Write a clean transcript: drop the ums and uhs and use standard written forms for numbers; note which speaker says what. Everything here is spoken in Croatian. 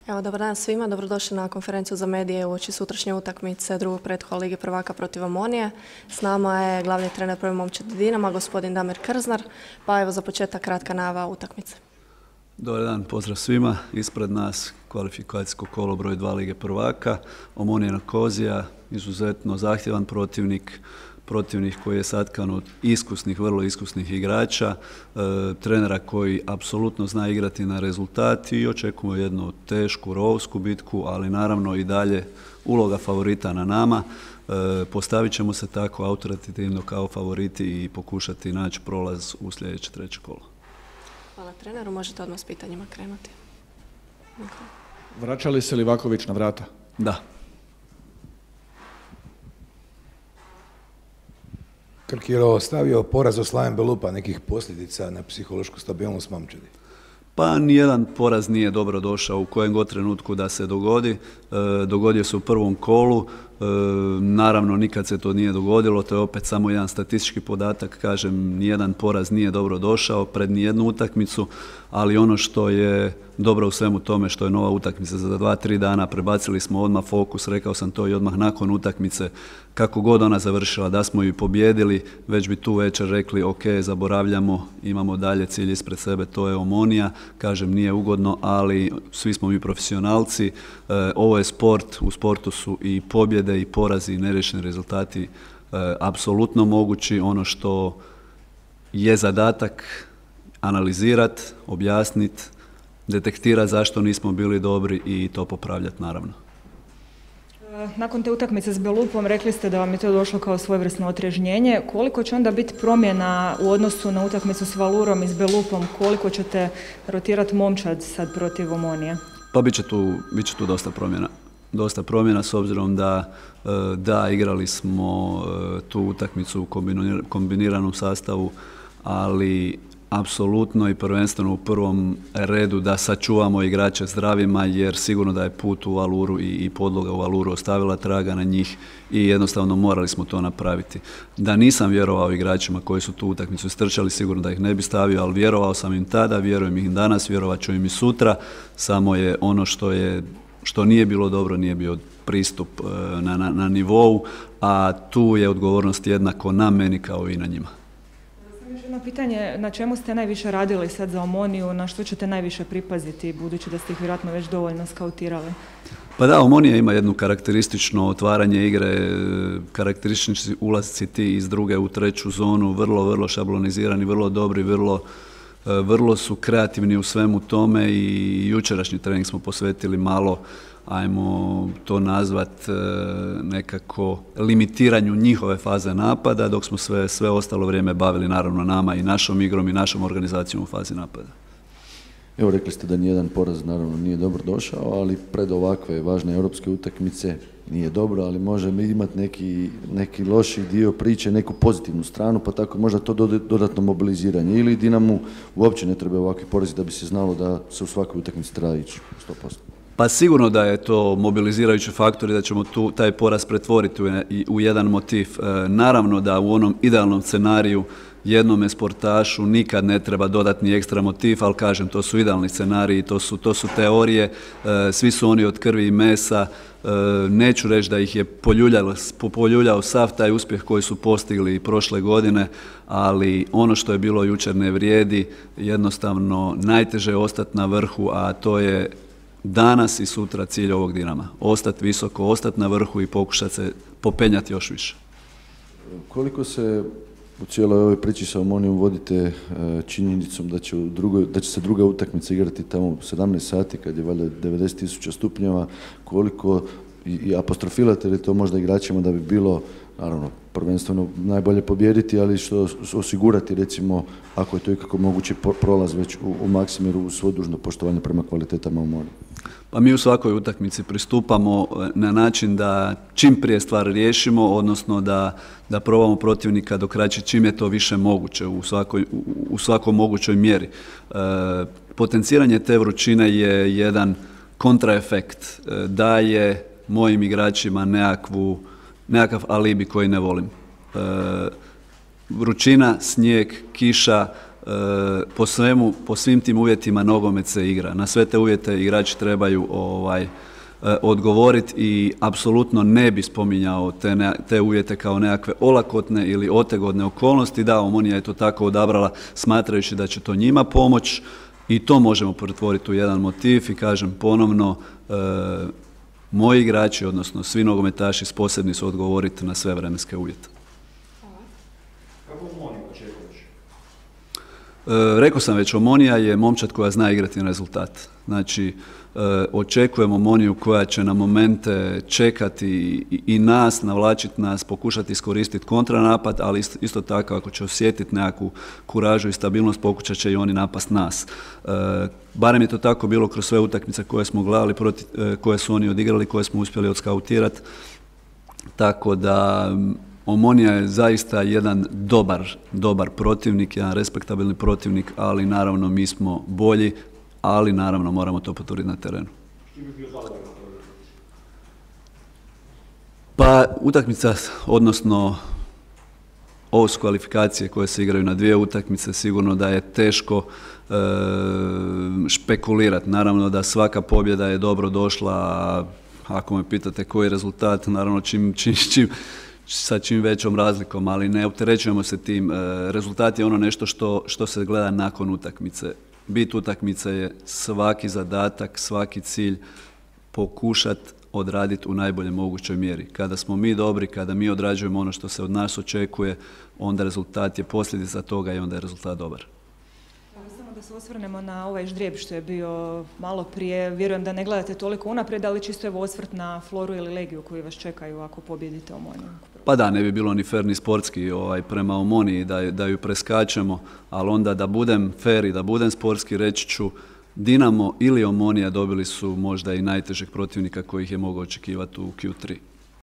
Speaker 1: Evo, dobar dan svima, dobrodošli na konferenciju za medije uoči sutrašnje utakmice drugog pretkola Lige prvaka protiv Omonije. S nama je glavni trener Prve momčadi Dinama, gospodin Damir Krznar, pa evo za početak kratka najava utakmice.
Speaker 2: Dobar dan, pozdrav svima. Ispred nas kvalifikacijsko kolo broj 2 Lige prvaka. Omonija Nikozija, izuzetno zahtjevan protivnik koji je satkan od iskusnih, vrlo iskusnih igrača, trenera koji apsolutno zna igrati na rezultat i očekujemo jednu tešku, rovsku bitku, ali naravno i dalje uloga favorita na nama. Postavit ćemo se tako autoritativno kao favoriti i pokušati naći prolaz u sljedeće treće kolo.
Speaker 1: Hvala treneru, možete odmah s pitanjima krenuti.
Speaker 3: Vraća li se Livaković na vrata?
Speaker 2: Da.
Speaker 4: Krk je ostavio poraz od Slaven Belupa, nekih posljedica na psihološku stabilnost momčadi?
Speaker 2: Pa nijedan poraz nije dobro došao u kojem god trenutku da se dogodi. Dogodio se u prvom kolu. Naravno, nikad se to nije dogodilo. To je opet samo jedan statistički podatak. Kažem, nijedan poraz nije dobro došao pred nijednu utakmicu, ali ono što je dobro u svemu tome što je nova utakmica za 2-3 dana, prebacili smo odmah fokus, rekao sam to i odmah nakon utakmice, kako god ona završila, da smo ju pobijedili, već bi tu večer rekli ok, zaboravljamo, imamo dalje cilj ispred sebe, to je Omonija. Kažem, nije ugodno, ali svi smo mi profesionalci, ovo je sport, u sportu su i pobjede i porazi i neriješeni rezultati apsolutno mogući. Ono što je zadatak analizirati, objasniti, detektirati zašto nismo bili dobri i to popravljati naravno.
Speaker 5: Nakon te utakmice s Belupom rekli ste da vam je to došlo kao svojevrsno otrežnjenje. Koliko će onda biti promjena u odnosu na utakmicu s Valurom i s Belupom? Koliko ćete rotirati momčad sad protiv Omonije?
Speaker 2: Pa bit će tu dosta promjena. Dosta promjena s obzirom da igrali smo tu utakmicu u kombiniranom sastavu, ali apsolutno i prvenstveno u prvom redu da sačuvamo igrače zdravima, jer sigurno da je put u Valuru i podloga u Valuru ostavila traga na njih i jednostavno morali smo to napraviti. Da nisam vjerovao igračima koji su tu utakmicu istrčali, sigurno da ih ne bi stavio, ali vjerovao sam im tada, vjerujem im danas, vjerovat ću im i sutra, samo je ono što nije bilo dobro, nije bio pristup na nivou, a tu je odgovornost jednako na meni kao i na njima.
Speaker 5: Jedno pitanje, na čemu ste najviše radili sad za Omoniju, na što ćete najviše pripaziti, budući da ste ih vjerojatno već dovoljno skautirali?
Speaker 2: Pa da, Omonija ima jedno karakteristično otvaranje igre, karakteristični ulasci ti iz druge u treću zonu, vrlo šablonizirani, vrlo dobri, vrlo su kreativni u svemu tome i jučerašnji trening smo posvetili malo, ajmo to nazvat nekako limitiranju njihove faze napada, dok smo sve ostalo vrijeme bavili naravno nama i našom igrom i našom organizacijom u fazi napada.
Speaker 6: Evo, rekli ste da nijedan poraz naravno nije dobro došao, ali pred ovakve važne europske utakmice nije dobro, ali može imati neki loši dio priče, neku pozitivnu stranu, pa tako možda to dodatno mobiliziranje. Ili Dinamu uopće ne treba ovakvi porazi da bi se znalo da se u svakoj utakmici treba ići 100%.
Speaker 2: Pa sigurno da je to mobilizirajući faktor i da ćemo taj poraz pretvoriti u jedan motiv. Naravno da u onom idealnom scenariju jednome sportašu nikad ne treba dodatni ekstra motiv, ali kažem, to su idealni scenariji, to su teorije, svi su oni od krvi i mesa. Neću reći da ih je poljuljao sav taj uspjeh koji su postigli prošle godine, ali ono što je bilo jučer ne vrijedi, jednostavno najteže je ostati na vrhu, a to je danas i sutra cilj ovog Dinama. Ostati visoko, ostati na vrhu i pokušati se popenjati još više.
Speaker 6: Koliko se u cijeloj ovoj priči sa Omonijom vodite činjenicom da će se druga utakmica igrati tamo u 17 sati kad je valjda 90.000 stupnjeva, koliko i apostrofilate li to možda igračima da bi bilo, naravno, prvenstveno najbolje pobijediti, ali što osigurati, recimo, ako je to ikako moguće, prolaz već u Maksimiru uz svo dužno poštovanje prema kvalitetama Omonije?
Speaker 2: Pa mi u svakoj utakmici pristupamo na način da čim prije stvar riješimo, odnosno da probamo protivnika dokraći čim je to više moguće u svakoj mogućoj mjeri. Potenciranje te vrućine je jedan kontraefekt, daje mojim igračima nekakav alibi koji ne volim. Vrućina, snijeg, kiša, po svim tim uvjetima nogomet se igra. Na sve te uvjete igrači trebaju odgovoriti i apsolutno ne bi spominjao te uvjete kao nekakve olakotne ili otegodne okolnosti. Da, Omonija je to tako odabrala smatrajući da će to njima pomoći i to možemo pretvoriti u jedan motiv i kažem ponovno, moji igrači, odnosno svi nogometaši sposobni su odgovoriti na sve vremenske uvjete.
Speaker 3: Kako Omoniju očekuješ?
Speaker 2: Rekao sam već, Omonija je momčad koja zna igrati na rezultat. Znači, očekujemo Omoniju koja će na momente čekati i nas, navlačiti nas, pokušati iskoristiti kontranapad, ali isto tako ako će osjetiti nekakvu kuražu i stabilnost, pokušat će i oni napast nas. Barem je to tako bilo kroz sve utakmice koje smo gledali, koje su oni odigrali, koje smo uspjeli odskautirati. Tako da Omonija je zaista jedan dobar protivnik, jedan respektabilni protivnik, ali naravno mi smo bolji, ali naravno moramo to potvrditi na terenu.
Speaker 3: Što bi bio zadovoljan?
Speaker 2: Pa utakmica, odnosno ovo su kvalifikacije koje se igraju na dvije utakmice, sigurno da je teško špekulirati. Naravno da svaka pobjeda je dobro došla, a ako me pitate koji je rezultat, naravno sa čim većom razlikom, ali ne opterećujemo se tim. Rezultat je ono nešto što se gleda nakon utakmice. Bit utakmice je svaki zadatak, svaki cilj pokušati odraditi u najbolje mogućoj mjeri. Kada smo mi dobri, kada mi odrađujemo ono što se od nas očekuje, onda rezultat je posljedica toga i onda je rezultat dobar.
Speaker 5: Samo da se osvrnemo na ovaj ždrijeb što je bio malo prije. Vjerujem da ne gledate toliko unaprijed, ali čisto evo osvrt na Floru ili Legiju koji vas čekaju ako pobijedite Omoniju.
Speaker 2: Pa da, ne bi bilo ni fer ni sportski prema Omoniji da ju preskačemo, ali onda da budem fer i da budem sportski, reći ću Dinamo ili Omonija dobili su možda i najtežeg protivnika kojih je mogao očekivati u Q3.